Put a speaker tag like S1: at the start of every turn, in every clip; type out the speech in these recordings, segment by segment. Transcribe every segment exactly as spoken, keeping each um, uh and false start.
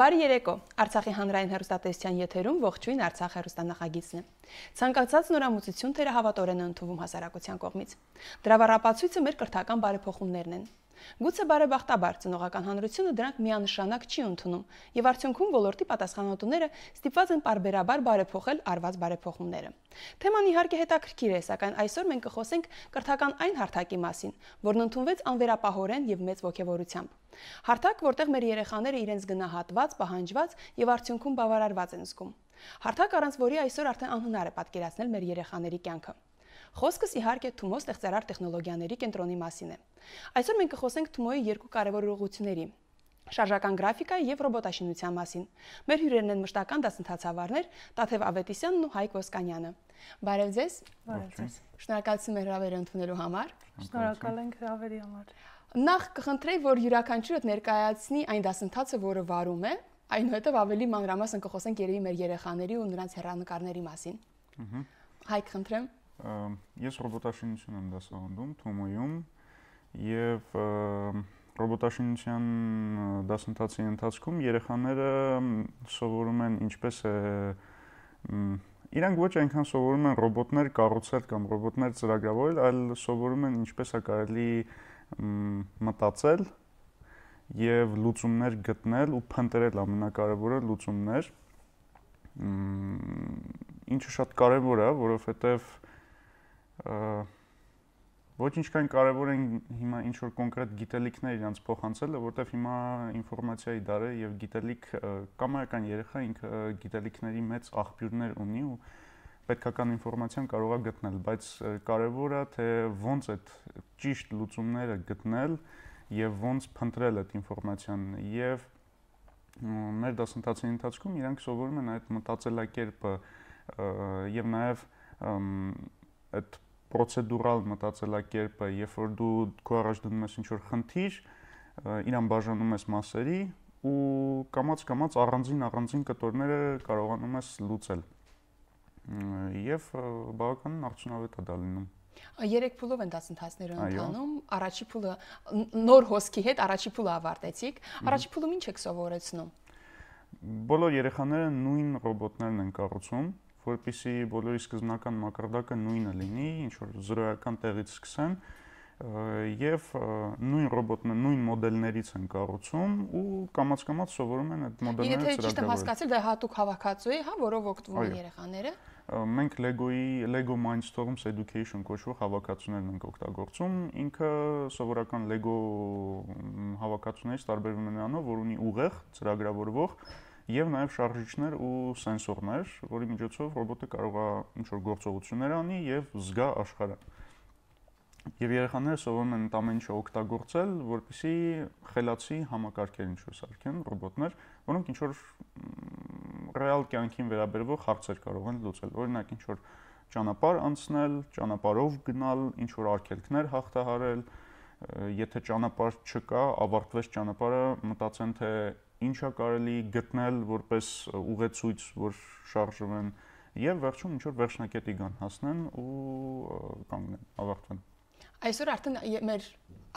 S1: Բարի երեկո, Արցախի հանրային հեռուստատեսության եթերում ողջույն Արցախ հեռուստանախագիծն է։ Ցանկացած նորամուծություն թերահավատորեն է ընդունվում հասարակության կողմից։ Դրա վառապացույցը մեր կրթական բարեփոխումներն են։ Գուցե բարեբախտաբար ծնողական հանրությունը դրանք միանշանակ չի ընդունում, եւ արդյունքում ոլորտի պատասխանատուները ստիպված են պարբերաբար բարեփոխել արված բարեփոխումները։ Թեման իհարկե հետաքրքիր է, սակայն այսօր մենք կխոսենք կրթական այն հարթակի մասին, որն ընդունվեց անվերապահորեն եւ մեծ ոգևորությամբ։ Հարթակ, որտեղ մեր երեխաները իրենց գնահատված, պահանջված եւ արդյունքում բավարարված են զգում։ Հարթակ, առանց որի այսօր արդեն անհնար է պատկերացնել մեր երեխաների կյանքը։ Խոսքս իհարկե Թումո ստեղծարար տեխնոլոգիաների կենտրոնի մասին է։ Այսօր մենք կխոսենք Թումոյի երկու կարևոր ուղղությունների՝ շարժական գրաֆիկայի եւ ռոբոտաշինության մասին։ Մեր հյուրերն են մշտական դասընթացավարներ Տաթև Ավետիսյանն ու Հայկ Ոսկանյանը։ Բարև ձեզ։
S2: Բարև ձեզ։
S1: Շնորհակալություն մեր հրավերը ընդունելու համար։
S2: Շնորհակալ ենք հրավերի համար։
S1: Նախ կխնդրեի, որ յուրաքանչյուրդ ներկայացնի այն դասընթացը, որը վարում է, այնուհետև ավելի մանրամասն կխոսենք երևի մեր երեխաների ու նրանց հեռանկարների մասին։ Հայկ, խնդրեմ։
S3: Ես ռոբոտաշինություն եմ դասավանդում Թումոյում եւ ռոբոտաշինության դասընթացի ընթացքում երեխաները սովորում են ինչպես է իրանք ոչ այնքան սովորում են ռոբոտներ կառուցել կամ ռոբոտներ ծրագրավորել, այլ սովորում են ինչպես է կարելի մտածել եւ լուծումներ գտնել ու փնտրել ամենակարևորը լուծումներ, ինչը շատ կարևոր է, որովհետեւ ոչ ինչքան կարևոր են հիմա ինչ որ կոնկրետ գիտելիքներ իրանց փոխանցելը, որտեվ հիմա ինֆորմացիայի դար է եւ գիտելիք կամայական երեխա ինքը գիտելիքների մեծ աղբյուրներ ունի ու պետքական ինֆորմացիան կարող է գտնել, բայց կարևորը թե ոնց այդ ճիշտ լուծումները գտնել եւ ոնց փնտրել այդ ինֆորմացիան եւ մեր դասընթացի ընթացքում իրանք սովորում են այդ մտածելակերպը եւ նաեւ այդ պրոցեդուրալ մտածելակերպը, երբ որ դու քո առաջ դնում ես ինչ-որ խնդիր, իրան բաժանում ես մասերի ու կամաց-կամաց առանձին առանձին կտորները կարողանում ես լուծել։ Եվ բավականին արդյունավետ է դա լինում։
S1: Երեք փուլով են դասընթացները ընթանում, առաջի փուլը նոր հոսքի հետ առաջի փուլը ավարտեցիք, առաջի փուլում ինչ եք սովորեցնում։
S3: Բոլոր երեխաները նույն ռոբոտներն են կառուցում, որպեսզի բոլորի սկզբնական մակարդակը նույնը լինի, ինչ որ զրոյական տեղից սկսեն եւ նույն ռոբոտն նույն մոդելներից են կառուցում ու կամաց-կամաց սովորում են այդ մոդելները ծրագրավորել։ Եթե
S1: ճիշտ եմ հասկացել, դա հատուկ հավաքածու է, հա, որով օգտվում են երեխաները։
S3: Մենք Lego-ի Lego Mindstorms Education կոչվող հավաքածուներն ենք օգտագործում։ Ինքը սովորական Lego հավաքածուներից տարբերվում է նրանով, որ ունի ուղեղ ծրագրավորվող եւ նաեւ շարժիչներ ու սենսորներ, որի միջոցով ռոբոտը կարող է ինչ-որ գործողություններ անի եւ զգա աշխարհը։ Եվ երեխաները սովորում են ամեն ինչը օգտագործել, որպեսզի խելացի համակարգեր ինչ-որ սարքեն ռոբոտներ, որոնք ինչ-որ ռեալ կյանքին վերաբերող հարցեր կարող են լուծել։ Օրինակ ինչ-որ ճանապարհ անցնել, ճանապարհով գնալ, ինչ-որ արգելքներ հաղթահարել, եթե ճանապարհ չկա, ավարտվեց ճանապարհը, մտածեն թե ինչա կարելի գտնել որպես ուղեցույց, որ շարժվեն եւ վերջում ինչ որ վերջնակետի գան հասնեն ու կանգնեն, ավարտվեն։
S1: Այսօր արդեն մեր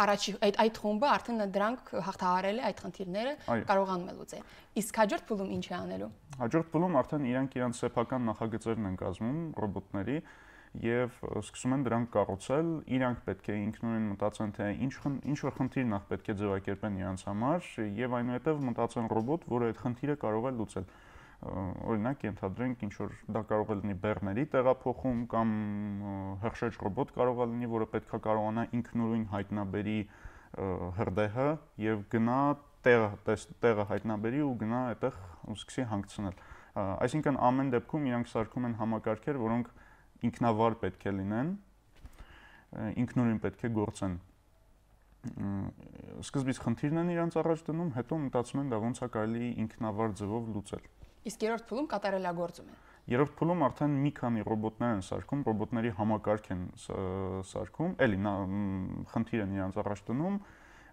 S1: առաջի այդ այդ խումբը արդեն դրանք հաղթահարել է այդ խնդիրները կարողանում է լուծել։ Իսկ հաջորդ փուլում ինչ է անելու։
S3: Հաջորդ փուլում արդեն իրանք իրանք սեփական նախագծերն են կազմում ռոբոտների եւ սկսում են դրանք կառուցել, իրանք պետք է ինքնուրույն մտածեն թե ինչ ինչ որ խնդիր նախ պետք է ձևակերպեն իրանց համար եւ այնուհետեւ մտածեն ռոբոտ, որը այդ խնդիրը կարող է լուծել։ Օրինակ ենթադրենք ինչ որ դա կարող է լինի բեռների տեղափոխում կամ հրշեջ ռոբոտ կարող է լինի, որը պետք է կարողանա ինքնուրույն հայտնաբերի հրդեհը եւ գնա տեղը տեղը հայտնաբերի ու գնա այդտեղ ու սկսի հանգցնել։ Այսինքն ամեն դեպքում իրանք սարքում են համակարգեր, որոնք ինքնավար պետք է լինեն, ինքնուրույն պետք է գործեն։ Սկզբից խնդիրն են իրանց առաջ դնում, հետո մտածում են դա ոնց է կարելի ինքնավար ձևով լուծել։
S1: Իսկ երրորդ փուլում կատարելագործում են։
S3: Երրորդ փուլում արդեն մի քանի ռոբոտներ են սարքում, ռոբոտների համակարգ են սարքում, էլի խնդիր են իրանց առաջ դնում,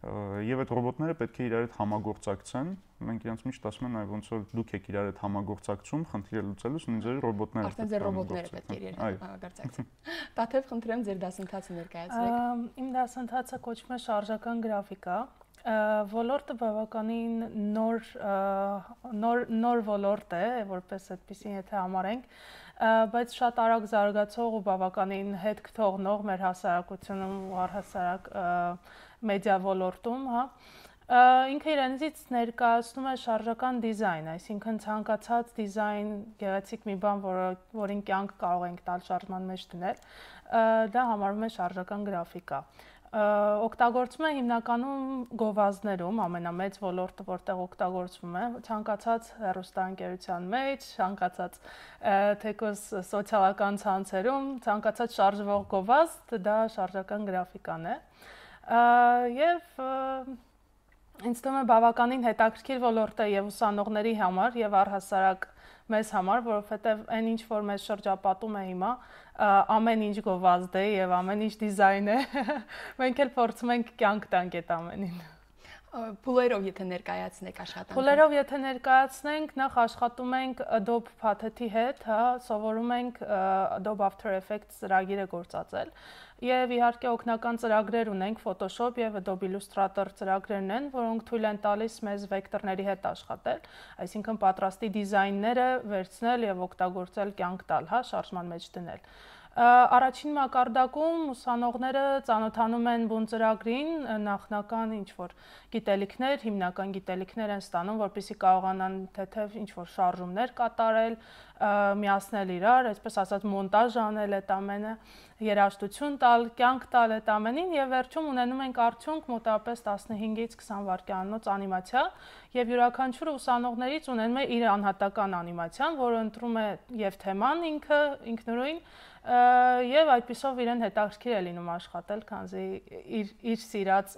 S3: եւ այդ ռոբոտները պետք է իրար հետ համագործակցեն։ Մենք իրանց միշտ ասում են, այ ոնց որ դուք եք իրար հետ համագործակցում, խնդիրը լուծելուց, նույն ձեր ռոբոտները։
S1: Արդեն ձեր ռոբոտները պետք է իրար հետ համագործակցեն։ Տաթև, խնդրեմ ձեր դասընթացը ներկայացրեք։
S2: Իմ դասընթացը կոչվում է շարժական գրաֆիկա, Ոլորտը բավականին նոր նոր նոր ոլորտ է, որպես այդպեսին եթե համարենք, բայց շատ արագ զարգացող ու բավականին հետ կթողնող մեր հասարակությունում ու առհասարակ մեդիա ոլորտում, հա, ինքը իրենից ներկայացնում է շարժական դիզայն, այսինքն ցանկացած դիզայն, գեղեցիկ մի բան, որին կյանք կարող ենք տալ շարժման մեջ դնել, դա համարվում է շարժական գրաֆիկա։ Օգտագործվում է հիմնականում գովազդներում, ամենամեծ ոլորտը, որտեղ օգտագործվում է, ցանկացած հեռուստաընկերության մեջ, ցանկացած թեկուզ սոցիալական ցանցերում, ցանկացած շարժվող գովազդ, դա շարժական գրաֆիկան է։ Եվ ինձ թվում է բավականին հետաքրքիր ոլորտ է եւ ուսանողների համար եւ առհասարակ մեզ համար, որովհետեւ այն ինչ որ մեզ շրջապատում է հիմա, ամեն ինչ գովազդ է եւ ամեն ինչ դիզայն է, մենք էլ փորձում ենք կյանք տանք այդ ամենին։
S1: Փուլերով եթե ներկայացնեք աշխատանքը։
S2: Փուլերով եթե ներկայացնենք, նախ աշխատում ենք Adobe Patheti հետ, հա, սովորում ենք Adobe After Effects ծրագիրը գործածել եւ իհարկե օգնական ծրագրեր ունենք, Photoshop եւ Adobe Illustrator ծրագրերն են, որոնք թույլ են տալիս մեզ վեկտորների հետ աշխատել, այսինքն պատրաստի դիզայնները վերցնել եւ օգտագործել կյանք տալ, հա, շարժման մեջ դնել։ Առաջին մակարդակում ուսանողները ծանոթանում են բուն ծրագրին, նախնական ինչ-որ գիտելիքներ, հիմնական գիտելիքներ են ստանում, որպեսզի կարողանան թեթև ինչ-որ շարժումներ կատարել, միացնել իրար, այսպես ասած մոնտաժ անել այդ ամենը, երաժշտություն տալ, կյանք տալ այդ ամենին եւ վերջում ունենում ենք արդյունք մոտավորապես տասնհինգից քսան վայրկյանոց անիմացիա եւ յուրաքանչյուր ուսանողներից ունենում է իր անհատական անիմացիան, որը ընտրում է եւ թեման ինքը ինքնուրույն եւ այդպիսով իրեն հետաքրքիր է լինում աշխատել, քանզի իր իր սիրած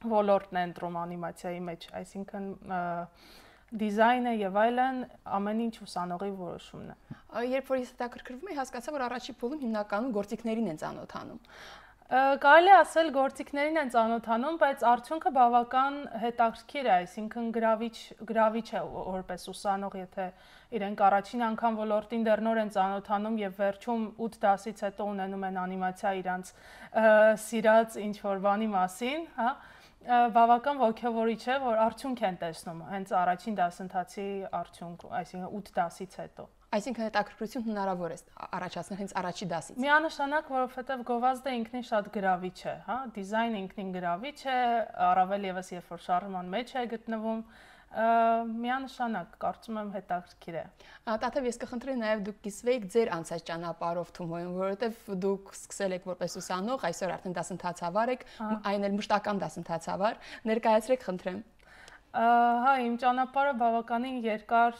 S2: ոլորտն է ընտրում անիմացիայի մեջ, այսինքն դիզայնը եւ այլն ամեն ինչ ուսանողի որոշումն է։
S1: Երբ որ ես հետաքրքրվում եմ, հասկացա, որ առաջի փուլում հիմնականում գործիքներին են ծանոթանում։
S2: Կարելի է ասել գործիքներին են ծանոթանում, բայց արդյունքը բավական հետաքրքիր է, այսինքն գրավիչ գրավիչ է որպես ուսանող, եթե իրենք առաջին անգամ ոլորտին դեռ նոր են ծանոթանում եւ վերջում ութ դասից հետո ունենում են անիմացիա իրանց սիրած ինչ-որ բանի մասին, հա, բավական ոգևորիչ է, որ արդյունք են տեսնում հենց առաջին դասընթացի արդյունք, այսինքն ութ դասից հետո։
S1: Այսինքն հետաքրքրություն հնարավոր է առաջացնել հենց առաջի դասից։
S2: Միանշանակ, որովհետև գովազդը ինքնին շատ գրավիչ է, հա, դիզայնը ինքնին գրավիչ է, առավել եւս երբ որ շարժման մեջ է գտնվում, միանշանակ, կարծում եմ հետաքրքիր է։
S1: Տաթև ես կխնդրեի նաև դուք կիսվեիք ձեր անցած ճանապարհով Թումոյում, որովհետև դուք սկսել եք որպես ուսանող, այսօր արդեն դասընթացավար եք, այն էլ մշտական դասընթացավար, ներկայացրեք խնդրեմ։
S2: Հա, իմ ճանապարհը բավականին երկար,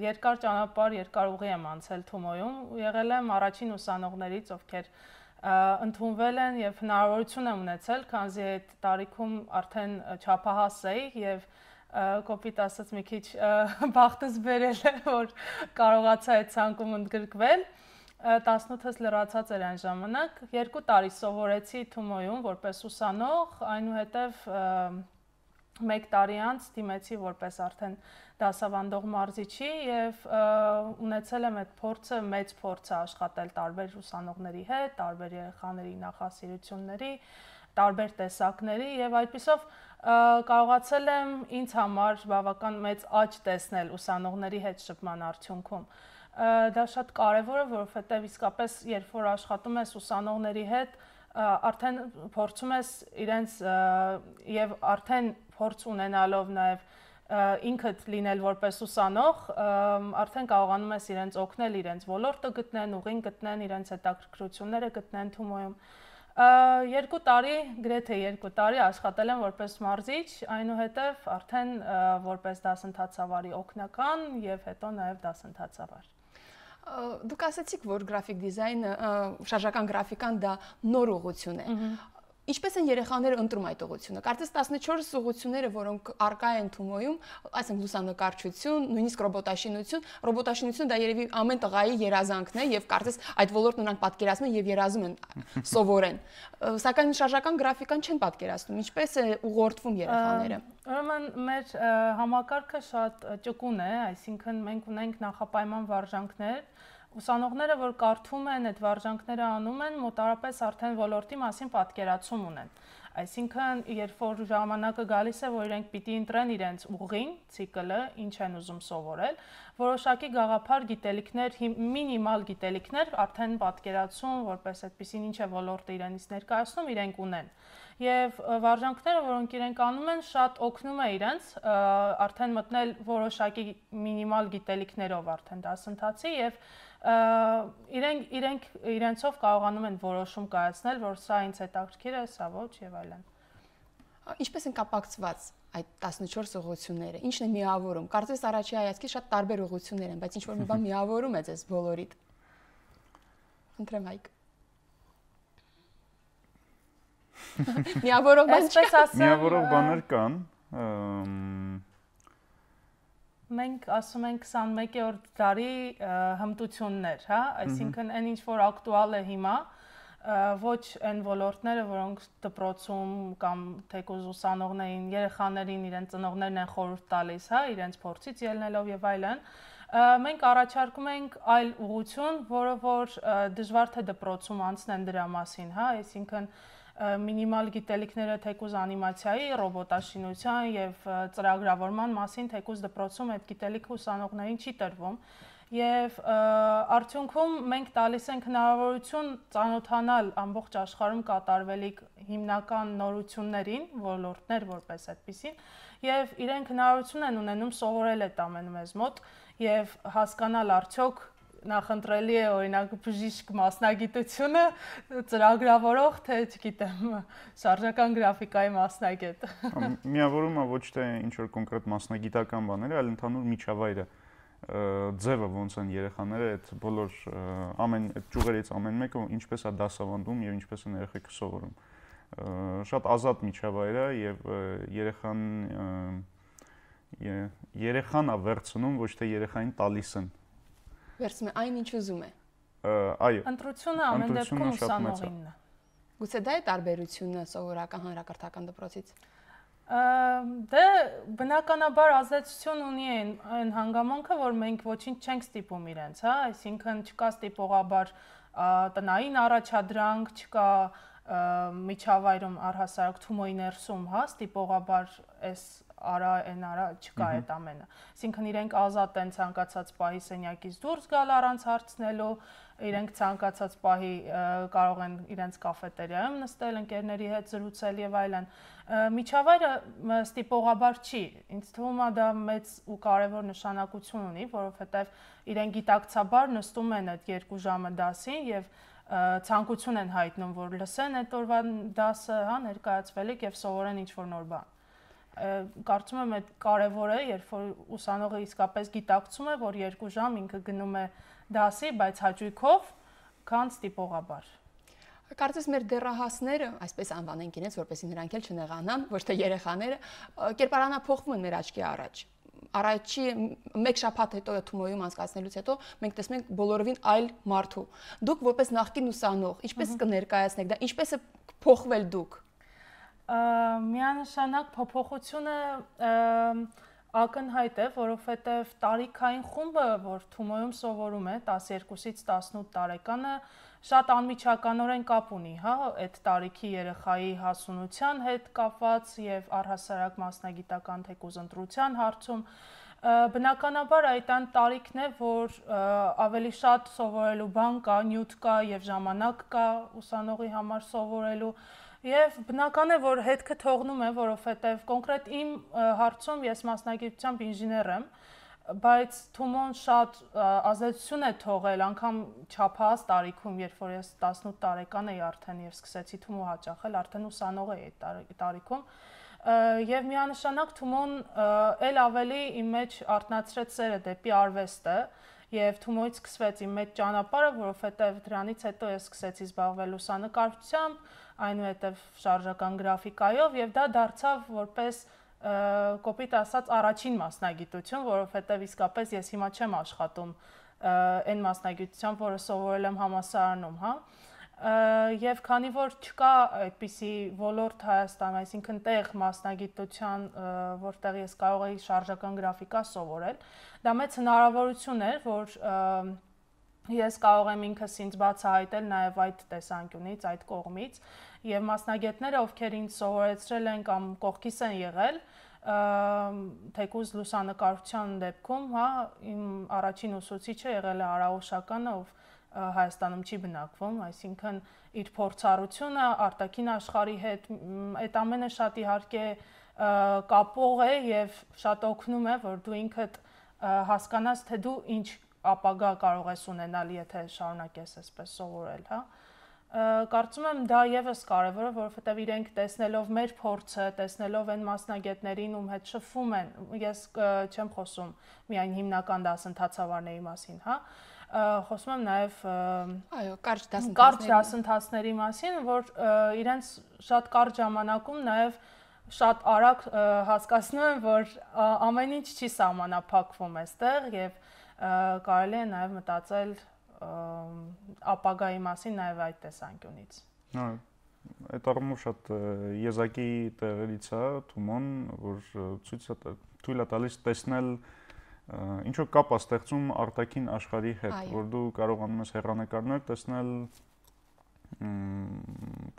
S2: երկար ճանապարհ, երկար ուղի եմ անցել Թումոյում, եղել եմ առաջին ուսանողներից, ովքեր ընդունվել են եւ հնարավորություն եմ ունեցել, քանզի այդ տարիքում արդեն չափահաս էի եւ կոպիտ ասած մի քիչ բախտս բերել է, որ կարողացա այդ ցանկում ընդգրկվել։ տասնութս լրացած էր այն ժամանակ, երկու տարի սովորեցի Թումոյում որպես ուսանող, այնուհետև մեկ տարի անց դիմեցի որպես արդեն դասավանդող մարզիչի եւ ունեցել եմ այդ փորձը, մեծ փորձը աշխատել տարբեր ուսանողների հետ, տարբեր երեխաների նախասիրությունների, տարբեր տեսակների եւ այդպիսով կարողացել եմ ինձ համար բավական մեծ աճ տեսնել ուսանողների հետ շփման արդյունքում։ Դա շատ կարեւոր է, որովհետեւ իսկապես երբ որ աշխատում ես ուսանողների հետ, արդեն փորձում ես իրենց եւ արդեն փորձ ունենալով նաեւ ինքդ լինել որպես ուսանող, արդեն կարողանում ես իրենց օգնել, իրենց ոլորտը գտնեն, ուղին գտնեն, իրենց հետաքրքրությունները գտնեն Թումոյում։ Երկու տարի, գրեթե երկու տարի աշխատել եմ որպես մարզիչ, այնուհետև արդեն որպես դասընթացավարի օգնական եւ հետո նաեւ դասընթացավար։
S1: Դուք ասացիք, որ գրաֆիկ դիզայնը, շարժական գրաֆիկան դա նոր ուղղություն է։ Ինչպես են երեխաները ընտրում այդ ուղղությունը։ Կարծես տասնչորս ուղղությունները, որոնք առկա են Թումոյում, այսինքն լուսանկարչություն, նույնիսկ ռոբոտաշինություն, ռոբոտաշինությունը դա երևի ամեն տղայի երազանքն է եւ կարծես այդ ոլորտն նրանք պատկերացնում են եւ երազում են սովորեն։ Սակայն շարժական գրաֆիկան չեն պատկերացնում։ Ինչպես է ուղղորդվում երեխաները։
S2: Ուրեմն մեր համակարգը շատ ճկուն է, այսինքն մենք ունենք նախապայման վարժանքներ, ուսանողները, որ կարդում են, այդ վարժանքները անում են, մոտարապես արդեն ոլորտի մասին պատկերացում ունեն։ Այսինքն, երբ որ ժամանակը գալիս է, որ իրենք պիտի ընտրեն իրենց ուղին, ցիկլը, ինչ են ուզում սովորել, որոշակի գաղափար գիտելիքներ, մինիմալ գիտելիքներ արդեն պատկերացում, որպես այդպեսին ինչ է ոլորտը իրենից ներկայացնում, իրենք ունեն։ Եվ վարժանքները, որոնք իրենք անում են, շատ օգնում է իրենց արդեն մտնել որոշակի մինիմալ գիտելիքներով արդեն դասընթացի եւ իրենք իրենք իրենցով կարողանում են որոշում կայացնել, որ սա ինձ հետաքրքիր է, սա ոչ եւ այլն։
S1: Ինչպես են կապակցված այդ տասնչորս ուղղությունները։ Ինչն է միավորում։ Կարծես առաջի հայացքից շատ տարբեր ուղղություններ են, բայց ինչ որ մի բան միավորում է ձեզ բոլորիդ։ Խնդրեմ Հայկ։ Միավորող բան
S2: այսպես ասեմ,
S3: միավորող բաներ կան։
S2: Մենք ասում ենք քսանմեկերորդ դարի հմտություններ, հա, այսինքն այն ինչ որ ակտուալ է հիմա, ոչ այն ոլորտները, որոնք դպրոցում կամ թեկուզ ուսանողներին, երեխաներին իրենց ծնողներն են խորհուրդ տալիս, հա, իրենց փորձից ելնելով եւ այլն, մենք առաջարկում ենք այլ ուղղություն, որը որ դժվար թե դպրոցում անցնեն դրա մասին, հա, այսինքն մինիմալ գիտելիքները թեկուզ անիմացիայի, ռոբոտաշինության եւ ծրագրավորման մասին թեկուզ դպրոցում այդ գիտելիքը ուսանողներին չի տրվում եւ արդյունքում մենք տալիս ենք հնարավորություն ծանոթանալ ամբողջ աշխարհում կատարվելիք հիմնական նորություններին, ոլորտներ որպես այդպեսին եւ իրենք հնարավորություն են ունենում սովորել այդ ամենը մեզ մոտ եւ հասկանալ արդյոք նախընտրելի է օրինակ բժիշկ մասնագիտությունը ծրագրավորող թե չգիտեմ շարժական գրաֆիկայի մասնագետ։
S3: Միավորումը ոչ թե ինչ որ կոնկրետ մասնագիտական բաներ, այլ ընդհանուր միջավայրը, ձևը ոնց են երեխաները այդ բոլոր ամեն այդ ճյուղերից ամեն մեկը ինչպես է դասավանդում եւ ինչպես են երեխեքը սովորում։ Շատ ազատ միջավայր է եւ երեխան երեխան է վերցնում, ոչ թե երեխային տալիս են։
S1: Վերցնում է այն, ինչ ուզում է։
S3: Այո։
S2: Ընտրությունը ամեն դեպքում ուսանողինն է։
S1: Գուցե դա է տարբերությունը սովորական հանրակրթական դպրոցից։
S2: Դե բնականաբար ազդեցություն ունի այն, այն հանգամանքը, որ մենք ոչինչ չենք ստիպում իրենց, հա, այսինքն չկա ստիպողաբար տնային առաջադրանք, չկա միջավայրում առհասարակ Թումոյի ներսում, հա, ստիպողաբար այս արա այն արա չկա այդ ամենը։ Այսինքն իրենք ազատ են ցանկացած պահի սենյակից դուրս գալ առանց հարցնելու, իրենք ցանկացած պահի կարող են իրենց կաֆետերիայում նստել, ընկերների հետ զրուցել եւ այլն։ Միջավայրը ստիպողաբար չի։ Ինձ թվում է դա մեծ ու կարեւոր նշանակություն ունի, որովհետեւ իրենք գիտակցաբար նստում են այդ երկու ժամը դասին եւ ցանկություն են հայտնում, որ լսեն այդ օրվա դասը, հա, ներկայացվելիք եւ սովորեն ինչ-որ նոր բան։ Կարծում եմ այդ կարևոր է, երբ որ ուսանողը իսկապես գիտակցում է, որ երկու ժամ ինքը գնում է դասի, բայց հաճույքով, քան ստիպողաբար։
S1: Կարծես մեր դեռահասները, այսպես անվանենք իրենց, որպեսզի նրանք էլ չնեղանան, ոչ թե երեխաները, կերպարանափոխվում են մեր աչքի առաջ։ Առաջի մեկ շաբաթ հետո Թումոյում անցկացնելուց հետո մենք տեսնում ենք բոլորովին այլ մարդու։ Դուք որպես նախկին ուսանող, ինչպես կներկայացնեք դա, ինչպես է փոխվել դուք։
S2: Միանշանակ փոփոխությունը ակնհայտ է, որովհետև տարիքային խումբը, որ Թումոյում սովորում է տասներկուսից տասնութ տարեկանը, շատ անմիջականորեն կապ ունի, հա, այդ տարիքի երեխայի հասունության հետ կապված եւ առհասարակ մասնագիտական թեկուզ ընտրության հարցում բնականաբար այդ այն տարիքն է, որ ավելի շատ սովորելու բան կա, նյութ կա եւ ժամանակ կա ուսանողի համար սովորելու Եվ բնական է, որ հետքը թողնում է, որովհետև կոնկրետ իմ հարցում ես մասնագիտությամբ ինժեներ եմ, բայց Թումոն շատ ազդեցություն է թողել, անգամ չափահաս տարիքում, երբ որ ես տասնութ տարեկան էի արդեն եւ սկսեցի Թումո հաճախել, արդեն ուսանող էի այդ տարիքում, եւ միանշանակ Թումոն էլ ավելի իմ մեջ արտնացրեց սերը դեպի արվեստը, Եվ Թումոյից սկսվեց իմ մեջ ճանապարհը, որովհետև դրանից հետո ես սկսեցի զբաղվել լուսանկարչությամբ, այնուհետև շարժական գրաֆիկայով եւ դա դարձավ որպես կոպիտ ասած առաջին մասնագիտություն, որովհետև իսկապես ես հիմա չեմ աշխատում այն մասնագիտությամբ, որը սովորել եմ համալսարանում, հա։ Եվ քանի որ չկա այդպիսի ոլորտ Հայաստանում, այսինքն տեղ մասնագիտության, որտեղ ես կարող էի շարժական գրաֆիկա սովորել, դա մեծ հնարավորություն էր, որ ես կարող եմ ինքս ինձ բացահայտել նաև այդ տեսանկյունից, այդ կողմից, եւ մասնագետները, ովքեր ինձ սովորեցրել են կամ կողքիս են եղել, թեկուզ լուսանկարչության դեպքում, հա, իմ առաջին ուսուցիչը եղել է Արա Օշականը, ով Հայաստանում չի բնակվում, այսինքն իր փորձառությունը արտաքին աշխարհի հետ այդ ամենը շատ իհարկե կապող է եւ շատ օգնում է, որ դու ինքդ հասկանաս, թե դու ինչ ապագա կարող ես ունենալ, եթե շարունակես այսպես սովորել, հա։ Կարծում եմ դա եւս կարեւոր է, որովհետեւ իրենք տեսնելով մեր փորձը, տեսնելով այն մասնագետներին, ում հետ շփվում են, ես չեմ խոսում միայն հիմնական դասընթացավարների մասին, հա, խոսում եմ նաեւ
S1: այո, կարճ դասընթացների
S2: կարճ դասընթացների մասին, որ իրենց շատ կարճ ժամանակում նաեւ շատ արագ հասկացնում են, որ ամեն ինչ չի սահմանափակվում այստեղ եւ կարելի է նաեւ մտածել ապագայի մասին նաև այդ տեսանկյունից։
S3: Հա, այդ առումով շատ եզակի տեղերից է Թումոն, որ ցույց է թույլ է տալիս տեսնել ինչ որ կապ է ստեղծում արտաքին աշխարհի հետ, որ դու կարողանում ես հեռանկարներ տեսնել,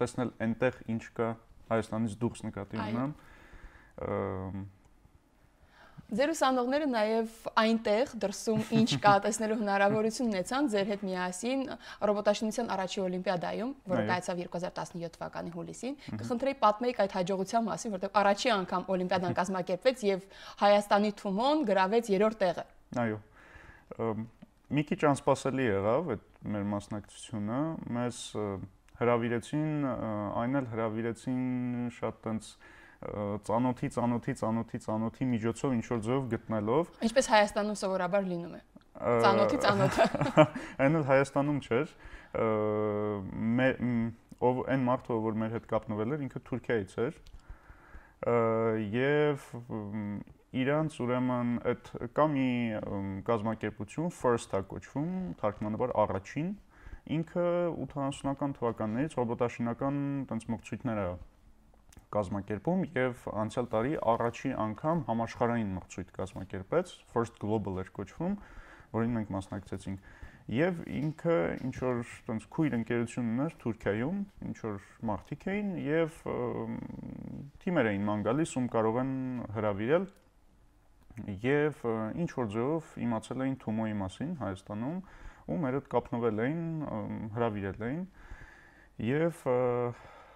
S3: տեսնել այնտեղ ինչ կա Հայաստանից դուրս նկատի ունեմ։
S1: Ձեր ուսանողները նաև այնտեղ դրսում ինչ կա տեսնելու հնարավորություն ունեցան ձեր հետ միասին ռոբոտաշինության առաջին օլիմպիադայում, որը կայացավ երկու հազար տասնյոթ թվականի հուլիսին։ Կխնդրեի պատմեիք այդ հաջողության մասին, որտեղ առաջի անգամ օլիմպիադան կազմակերպվեց եւ Հայաստանի Թումոն գրավեց երրորդ տեղը։
S3: Այո։ Մի քիչ անսպասելի եղավ այդ մեր մասնակցությունը, մեզ հրավիրեցին, այն էլ հրավիրեցին շատ տենց ծանոթի, ծանոթի, ծանոթի, ծանոթի միջոցով ինչ որ ձևով գտնելով։
S1: Ինչպես Հայաստանում սովորաբար լինում է։ Ծանոթի ծանոթը։
S3: Այն էլ Հայաստանում չէր։ Ով այն մարդը, որ մեր հետ կապնվել էր, ինքը Թուրքիայից էր։ Եվ իրանց ուրեմն այդ կա մի կազմակերպություն First-ը կոչվում, թարգմանաբար առաջին, ինքը ութանասունական թվականներից ռոբոտաշինական տենց մրցույթներ է կազմակերպում եւ անցյալ տարի առաջի անգամ համաշխարհային մրցույթ կազմակերպեց, First Global էր կոչվում, որին մենք մասնակցեցինք։ Եվ ինքը ինչ որ տենց քույր ընկերություն ուներ Թուրքիայում, ինչ որ մարդիկ էին եւ թիմեր էին ման գալիս, ում կարող են հրավիրել եւ ինչ որ ձևով իմացել էին Թումոյի մասին Հայաստանում, ու մեր հետ կապնվել էին, հրավիրել էին եւ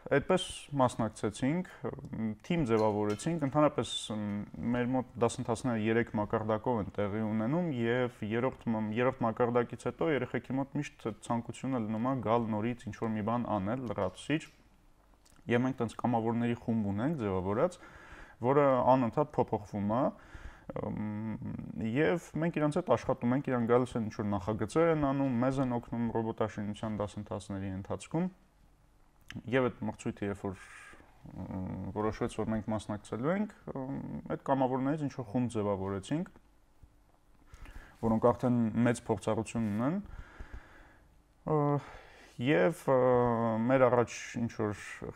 S3: այդպես մասնակցեցինք, թիմ ձևավորեցինք, ընդհանրապես մեր մոտ դասընթացները երեք մակարդակով են տեղի ունենում եւ երրորդ երրորդ մակարդակից հետո երեխեքի մոտ միշտ ցանկությունը լինում է գալ նորից ինչ-որ մի բան անել, լրացուցիչ։ Եվ մենք տենց կամավորների խումբ ունենք ձևավորած, որը անընդհատ փոփոխվում է եւ մենք իրանց հետ աշխատում ենք, իրան գալիս են ինչ-որ նախագծեր են անում, մեզ են օգնում ռոբոտաշինության դասընթացների ընթացքում։ Եվ այդ մրցույթը, երբ որ որոշվեց, որ մենք մասնակցելու ենք, այդ կամավորներից ինչ որ խումբ ձևավորեցինք, որոնք արդեն մեծ փորձառություն ունեն, եւ մեր առաջ ինչ որ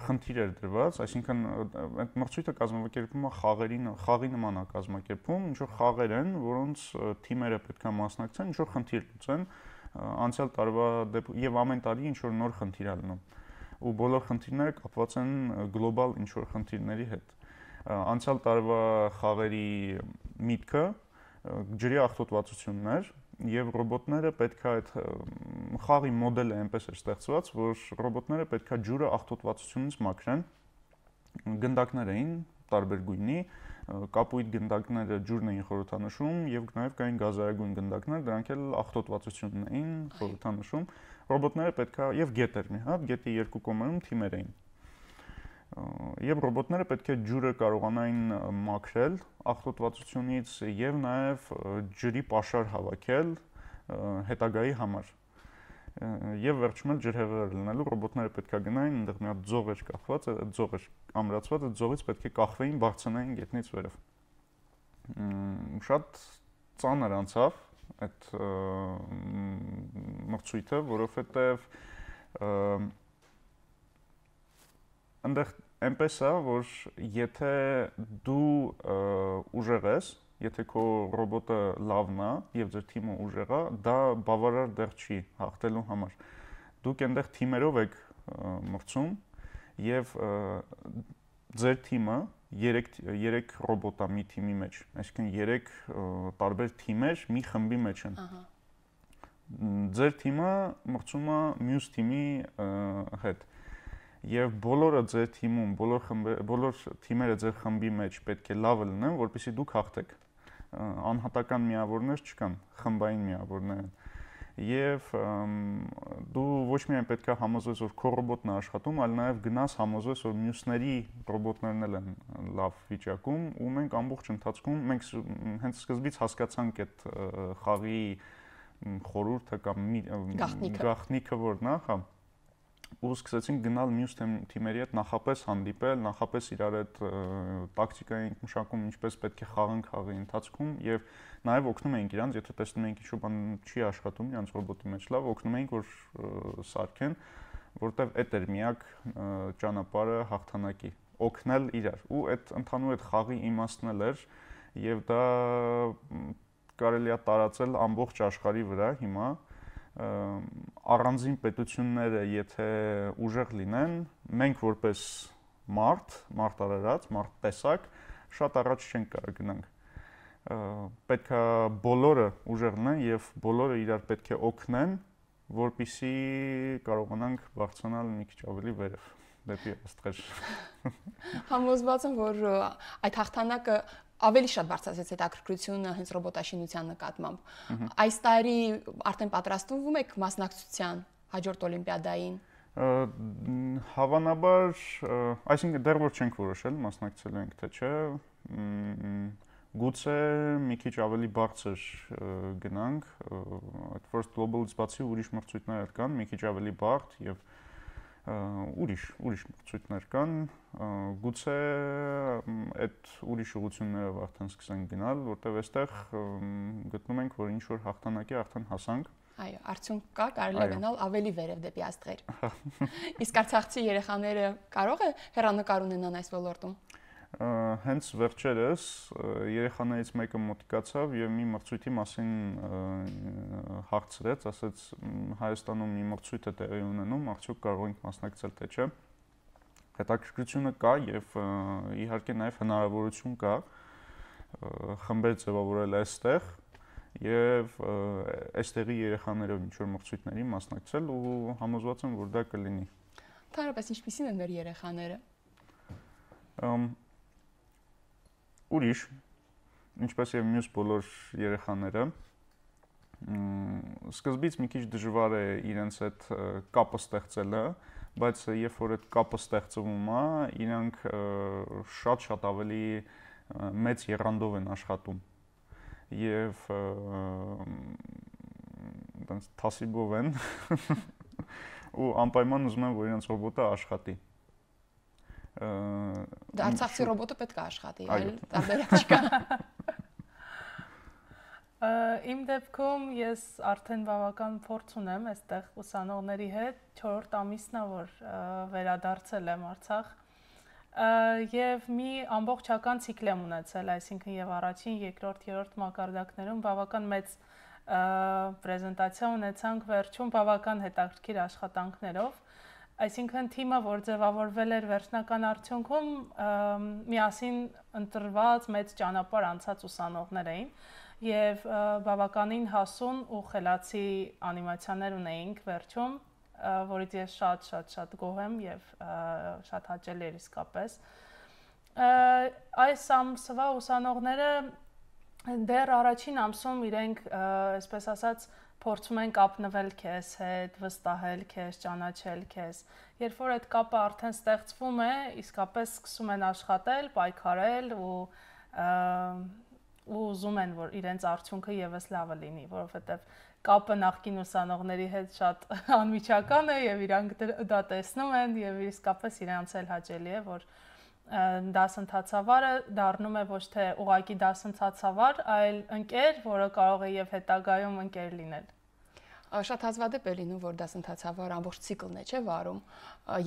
S3: խնդիր էր դրված, այսինքն այդ մրցույթը կազմակերպվում է խաղերի խաղի նման է կազմակերպվում, ինչ որ խաղեր են, որոնց թիմերը պետք է մասնակցեն, ինչ որ խնդիր լուծեն, անցյալ տարվա եւ ամեն տարի ինչ որ նոր խնդիր է լինում։ Ու բոլոր խնդիրները կապված են գլոբալ ինչ-որ խնդիրների հետ։ Անցյալ տարվա խաղերի միտքը ջրի աղտոտվածությունն էր, եւ ռոբոտները պետք է այդ խաղի մոդելը այնպես էր ստեղծված, որ ռոբոտները պետք է ջուրը աղտոտվածությունից մաքրեն։ Գնդակներ էին տարբեր գույնի, կապույտ գնդակները ջուրն էին խորհրդանշում եւ նաեւ կային գազայագույն գնդակներ, դրանք էլ աղտոտվածությունն էին խորհրդանշում։ Ռոբոտները պետք է եւ գետեր մի հատ, գետի երկու կողմերում թիմեր էին։ Եվ ռոբոտները պետք է ջուրը կարողանային մաքրել աղտոտվածությունից եւ նաեւ ջրի պաշար հավաքել հետագայի համար։ Եվ վերջում էլ ջրհեղեղեր լինելու ռոբոտները պետք է գնային, այնտեղ մի հատ ձող էր կախված, այդ ձողը ամրացված, այդ ձողից պետք է կախվեին, բարձրանային գետնից վերև։ Շատ ծանր անցավ այդ մրցույթը, որովհետև այնտեղ այնպես է, որ եթե դու ուժեղ ես, եթե քո ռոբոտը լավն է եւ ձեր թիմը ուժեղ է, դա բավարար դեռ չի հաղթելու համար։ Դուք այնտեղ թիմերով եք մրցում եւ ձեր թիմը երեք ռոբոտ է մի թիմի մեջ, այսինքն երեք տարբեր թիմեր մի խմբի մեջ են։ Ահա։ Ձեր թիմը մրցում է մյուս թիմի հետ։ Եվ բոլորը ձեր թիմում, բոլոր խմբերը, բոլոր թիմերը ձեր խմբի մեջ պետք է լավը լինեն, որպեսզի դուք հաղթեք։ Անհատական միավորներ չկան, խմբային միավորներ են։ Եվ դու ոչ միայն պետք է համոզես, որ քո ռոբոտն է աշխատում, այլ նաև գնաս համոզես, որ մյուսների ռոբոտներն էլ են լավ վիճակում, ու մենք ամբողջ ընթացքում մենք հենց սկզբից հասկացանք այդ խաղի խորհուրդը կամ գաղտնիքը որն է, հա, ու սկսեցինք գնալ մյուս թիմերի հետ նախապես հանդիպել, նախապես իրար հետ տակտիկային մշակում ինչպես պետք է խաղան խաղի ընթացքում եւ նաեւ օգնում էինք իրանց, եթե տեսնում էինք ինչ-որ բան չի աշխատում իրանց ռոբոտի մեջ լավ, օգնում էինք որ սարքեն, որտեվ այդ էր միակ ճանապարհը հաղթանակի, օգնել իրար։ Ու այդ ընդհանուր այդ խաղի իմաստն էլ էր եւ դա կարելի է տարածել ամբողջ աշխարհի վրա հիմա առանձին պետությունները եթե ուժեղ լինեն, մենք որպես մարդ, մարդ արարած, մարդ տեսակ, շատ առաջ չենք կարող գնանք։ Պետք է բոլորը ուժեղ լինեն եւ բոլորը իրար պետք է օգնեն, որպեսզի կարողանանք բարձրանալ մի քիչ ավելի վերև, դեպի աստղեր։
S1: Համոզված եմ, որ այդ հաղթանակը ավելի շատ բարձրացեց հետաքրքրությունը հենց ռոբոտաշինության նկատմամբ։ Այս տարի արդեն պատրաստվում եք մասնակցության հաջորդ օլիմպիադային։
S3: Հավանաբար, այսինքն դեռ որ չենք որոշել մասնակցելու ենք թե չէ, գուցե մի քիչ ավելի բարձր գնանք, այդ First Global-ից բացի ուրիշ մրցույթներ կան, մի քիչ ավելի բարդ եւ ուրիշ ուրիշ մրցույթներ կան, գուցե այդ ուրիշ ուղղություններով արդեն սկսենք գնալ, որտեղ այստեղ գտնում ենք, որ ինչ որ հաղթանակի արդեն հասանք։
S1: Այո, արդյունք կա, կարելի է գնալ ավելի վերև դեպի աստղեր։ Իսկ արցախցի երեխաները կարող է հեռանկար ունենան այս ոլորտում։
S3: Հենց վերջերս երեխաներից մեկը մոտիկացավ եւ մի մրցույթի մասին հարցրեց, ասաց Հայաստանում մի մրցույթ է տեղի ունենում, արդյոք կարող ենք մասնակցել թե չէ։ Հետաքրքրությունը կա եւ իհարկե նաեւ հնարավորություն կա խմբեր ձևավորել այստեղ եւ այստեղի երեխաներով ինչ որ մրցույթների մասնակցել ու համոզված եմ, որ դա կլինի։
S1: Ընդհանրապես ինչպիսին են մեր երեխաները։
S3: Ուրիշ, ինչպես եւ մյուս բոլոր երեխաները, սկզբից մի քիչ դժվար է իրենց այդ կապը ստեղծելը, բայց երբ որ այդ կապը ստեղծվում է, իրանք շատ-շատ ավելի մեծ եռանդով են աշխատում եւ այնպես թասիբով են ու անպայման ուզում են, որ իրենց ռոբոտը աշխատի։
S1: Դա արցախցի ռոբոտը պետք է աշխատի, այլ տարբերակ չկա։
S2: Իմ դեպքում ես արդեն բավական փորձ ունեմ այստեղ ուսանողների հետ, չորրորդ ամիսն է, որ վերադարձել եմ Արցախ եւ մի ամբողջական ցիկլ եմ ունեցել, այսինքն եւ առաջին, երկրորդ, երրորդ մակարդակներում բավական մեծ պրեզենտացիա ունեցանք, վերջում բավական հետաքրքիր աշխատանքներով։ Այսինքն թիմը, որ ձևավորվել էր վերջնական արդյունքում, միասին ընտրված մեծ ճանապարհ անցած ուսանողներ էին եւ բավականին հասուն ու խելացի անիմացիաներ ունեինք վերջում, որից ես շատ-շատ-շատ գոհ եմ եւ շատ հաճելի էր իսկապես։ Այս ամսվա ուսանողները դեռ առաջին ամսում իրենք, այսպես ասած, փորձում են կապնվել քեզ հետ, վստահել քեզ, ճանաչել քեզ։ Երբ որ այդ կապը արդեն ստեղծվում է, իսկապես սկսում են աշխատել, պայքարել ու ու ուզում են, որ իրենց արդյունքը եւս լավը լինի, որովհետեւ կապը նախկին ուսանողների հետ շատ անմիջական է եւ իրանք դա տեսնում են եւ իսկապես իրանց էլ հաճելի է, որ դասընթացավարը դառնում է ոչ թե ուղղակի դասընթացավար, այլ ընկեր, որը կարող է եւ հետագայում ընկեր լինել։
S1: Շատ հազվադեպ է լինում, որ դասընթացավար ամբողջ ցիկլն է, չէ, վարում։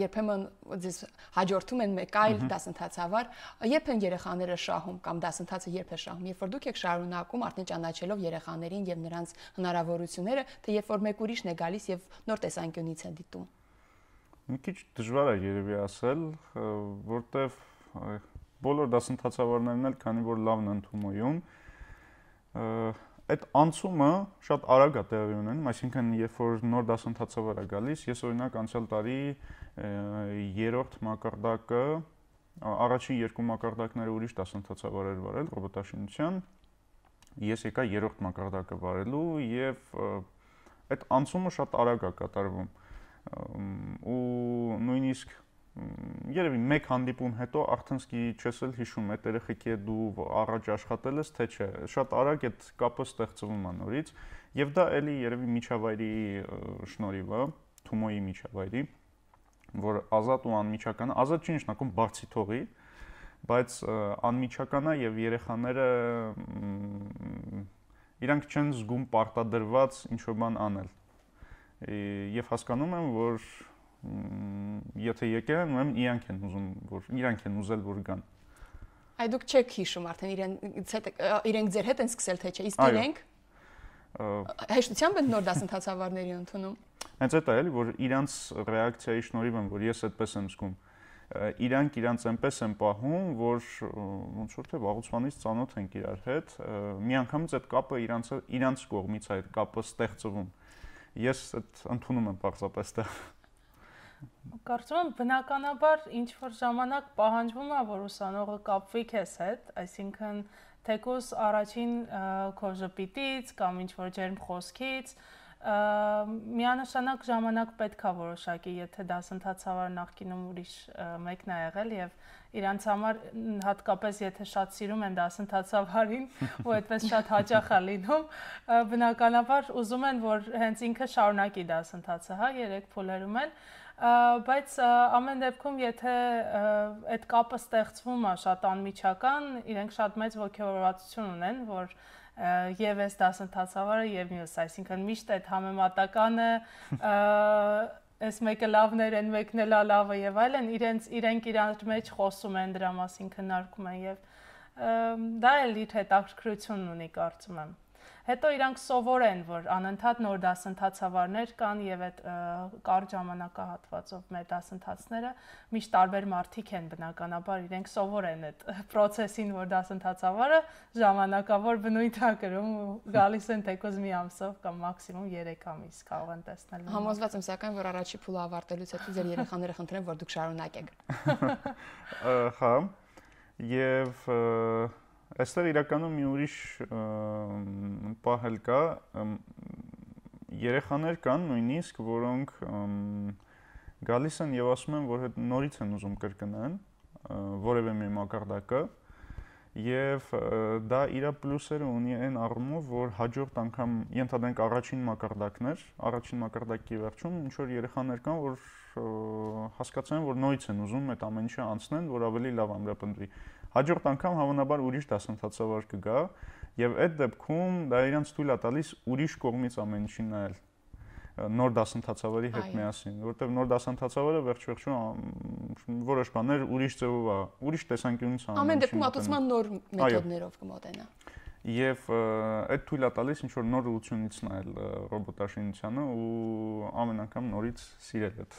S1: Երբեմն ձեզ հաջորդում են մեկ այլ դասընթացավար, երբ են երեխաները շահում կամ դասընթացը երբ է շահում, երբ որ դուք եք շարունակում արդեն ճանաչելով երեխաներին եւ նրանց հնարավորությունները, թե երբ որ մեկ ուրիշն է գալիս եւ նոր տեսանկյունից է դիտում։
S3: Մի քիչ դժվար է երևի ասել, որտեվ բոլոր դասընթացավարներն էլ, քանի որ լավն են Թումոյում, այդ անցումը շատ արագ է տեղի ունենում, այսինքն երբ որ նոր դասընթացավար է գալիս, ես օրինակ անցյալ տարի երրորդ մակարդակը, առաջին երկու մակարդակները ուրիշ դասընթացավար էր վարել ռոբոտաշինության, ես եկա երրորդ մակարդակը վարելու եւ այդ անցումը շատ արագ է կատարվում ու նույնիսկ երևի մեկ հանդիպում հետո արդեն սկի չես էլ հիշում այդ երեխեքի դու առաջ աշխատել ես թե չէ, շատ արագ այդ կապը ստեղծվում է նորից եւ դա էլի երևի միջավայրի շնորհիվ է, Թումոյի միջավայրի, որ ազատ ու անմիջական է, ազատ չի նշանակում բարձի թողի, բայց անմիջական է եւ երեխաները իրանք չեն զգում պարտադրված ինչ-որ բան անել եւ հասկանում եմ, որ եթե եկել են, ուրեմն իրանք են ուզում, որ իրանք են ուզել որ գան։
S1: Այ դուք չեք հիշում արդեն իրենց հետ իրենք ձեր հետ են սկսել թե չէ, իսկ իրենք հեշտությամբ են նոր դասընթացավարների ընդունում։
S3: Հենց այդ է էլի, որ իրանց ռեակցիայի շնորհիվ եմ, որ ես այդպես եմ զգում։ Իրանք իրանց այնպես են պահում, որ ոնց որ թե վաղուց ծանոթ ենք իրար հետ, միանգամից այդ կապը իրանց իրանց կողմից է այդ կապը ստեղծվում։ Ես այդ ընդունում եմ պարզապես դա։
S2: Կարծում եմ բնականաբար ինչ որ ժամանակ պահանջվում է, որ ուսանողը կապվի քեզ հետ, այսինքն թեկուզ առաջին քո ժպիտից կամ ինչ որ ջերմ խոսքից միանշանակ ժամանակ պետք է որոշակի, եթե դասընթացավար նախկինում ուրիշ մեկն է եղել եւ իրանց համար հատկապես եթե շատ սիրում են դասընթացավարին ու այդպես շատ հաճախ է լինում, բնականաբար ուզում են, որ հենց ինքը շարունակի դասընթացը, հա, երեք փուլերում են, բայց ամեն դեպքում եթե այդ կապը ստեղծվում է շատ անմիջական, իրենք շատ մեծ ոգևորվածություն ունեն, որ եւ այս դասընթացավարը եւ մյուս, այսինքն միշտ այդ համեմատականը այս մեկը լավներ են, մեկն էլ լավը եւ այլն, իրենց իրենք իրար մեջ խոսում են դրա մասին, քննարկում են եւ դա էլ իր հետաքրքրությունն ունի, կարծում եմ։ Հետո իրանք սովոր են, որ անընդհատ նոր դասընթացավարներ կան եւ այդ կարճ ժամանակահատվածով մեր դասընթացները միշտ տարբեր մարդիկ են բնականաբար, իրենք սովոր են այդ process-ին, որ դասընթացավարը ժամանակավոր բնույթ է կրում ու գալիս են թեկուզ մի ամսով կամ մաքսիմում երեք ամիս կարող են տեսնել։
S1: Համոզված եմ սակայն, որ առաջի փուլը ավարտելուց հետո ձեր երեխաները խնդրեն, որ դուք շարունակեք։
S3: Հա, եւ այստեղ իրականում մի ուրիշ պահ էլ կա, երեխաներ կան նույնիսկ, որոնք գալիս են եւ ասում են, որ նորից են ուզում կրկնեն որևէ մի մակարդակը եւ դա իր պլյուսերը ունի այն առումով, որ հաջորդ անգամ ենթադրենք առաջին մակարդակներ, առաջին մակարդակի վերջում ինչ որ երեխաներ կան, որ հասկացան, որ նորից են ուզում այդ ամեն ինչը անցնեն, որ ավելի լավ ամրապնդվի։ Հաջորդ անգամ հավանաբար ուրիշ դասընթացավար կգա եւ այդ դեպքում դա իրանց թույլ է տալիս ուրիշ կողմից ամեն ինչին նայել նոր դասընթացավարի հետ միասին, որովհետեւ նոր դասընթացավարը վերջ-վերջում որոշ բաներ ուրիշ ձևով է, ուրիշ տեսանկյունից անում։
S1: Ամեն դեպքում մոտեցման նոր մեթոդներով կմոտենա։
S3: Եվ այդ թույլ է տալիս ինչ որ նոր ուղղությունից նայել ռոբոտաշինությանը ու ամեն անգամ նորից սիրել այդ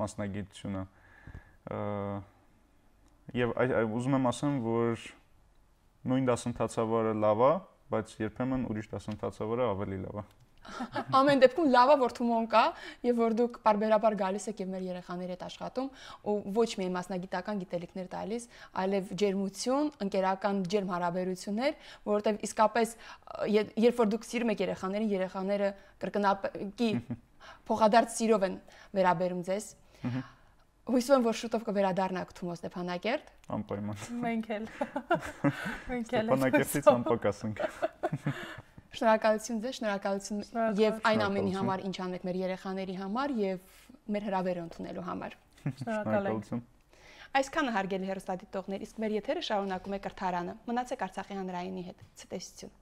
S3: մասնագիտությունը։ Եվ ուզում եմ ասեմ, որ նույն դասընթացավարը լավ է, բայց երբեմն ուրիշ դասընթացավարը ավելի լավ է։
S1: Ամեն դեպքում լավ է, որ Թումոն կա եւ որ դուք բարբերաբար գալիս եք եւ մեր երեխաների հետ աշխատում ու ոչ միայն մասնագիտական գիտելիքներ տալիս, այլև ջերմություն, ընկերական ջերմ հարաբերություններ, որովհետեւ իսկապես երբ որ դուք սիրում եք երեխաներին, երեխաները կրկնակի փոխադարձ սիրով են վերաբերում ձեզ։ Հույսով եմ, որ շուտով կվերադառնաք Թումո Ստեփանակերտ։
S3: Անպայման։
S2: Մենք էլ։ Մենք էլ։
S3: Ստեփանակերտից անպակաս ենք։
S1: Շնորհակալություն ձեզ, շնորհակալություն եւ այն ամենի համար, ինչ անեք մեր երեխաների համար եւ մեր հրավերը ընդունելու համար։
S2: Շնորհակալություն։
S1: Այսքանը հարգելի հեռուստադիտողներ, իսկ մեր եթերը շարունակում է Կրթարանը։ Մնացեք Արցախի հանրայինի հետ։ Ցտեսություն։